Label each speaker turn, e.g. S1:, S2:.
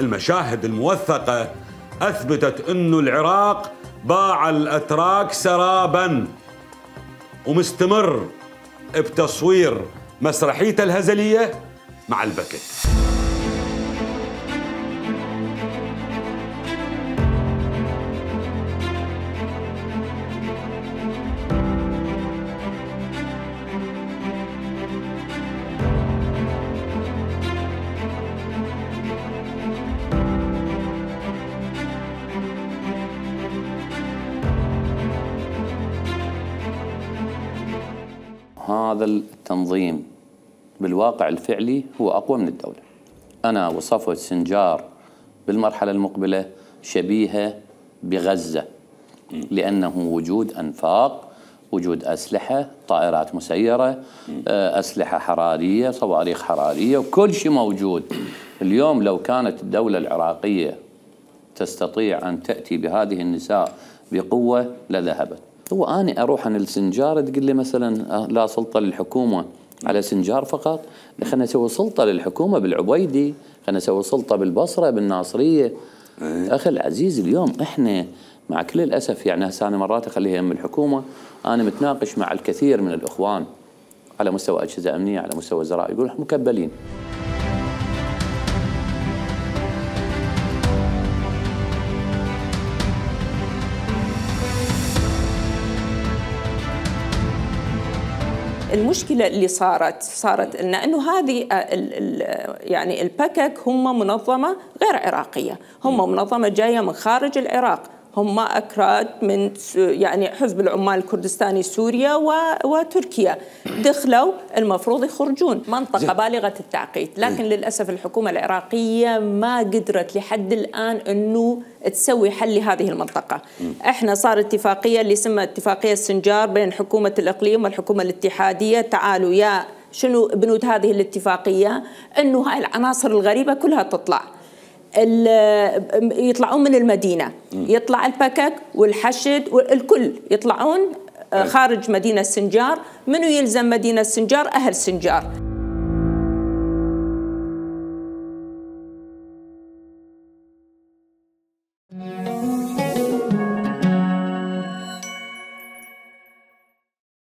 S1: المشاهد الموثقة أثبتت أنه العراق باع الأتراك سراباً، ومستمر بتصوير مسرحيته الهزلية مع البكت.
S2: هذا التنظيم بالواقع الفعلي هو أقوى من الدولة. أنا وصفت سنجار بالمرحلة المقبلة شبيهة بغزة، لأنه وجود أنفاق، وجود أسلحة، طائرات مسيرة، أسلحة حرارية، صواريخ حرارية، وكل شيء موجود. اليوم لو كانت الدولة العراقية تستطيع أن تأتي بهذه النساء بقوة لذهبت. هو أنا أروح عن السنجار تقول لي مثلا لا سلطة للحكومة على سنجار فقط، خلينا نسوي سلطة للحكومة بالعبيدي، خلينا نسوي سلطة بالبصرة بالناصرية. أخي العزيز اليوم إحنا مع كل الأسف يعني هسه أنا مرات أخليها يم الحكومة، أنا متناقش مع الكثير من الإخوان على مستوى أجهزة أمنية، على مستوى وزراء، يقول إحنا مكبلين.
S3: المشكلة اللي صارت انه هذه يعني البكك هم منظمة غير عراقية، هم منظمة جاية من خارج العراق، هم أكراد من يعني حزب العمال الكردستاني سوريا وتركيا، دخلوا المفروض يخرجون منطقة بالغة التعقيد، لكن للأسف الحكومة العراقية ما قدرت لحد الآن أنه تسوي حل لهذه المنطقة. احنا صار اتفاقية اللي اسمها اتفاقية السنجار بين حكومة الإقليم والحكومة الاتحادية. تعالوا يا شنو بنود هذه الاتفاقية؟ أنه هاي العناصر الغريبة كلها تطلع، يطلعون من المدينة، يطلع البكك والحشد والكل يطلعون خارج مدينة سنجار. منو يلزم مدينة سنجار؟ أهل سنجار.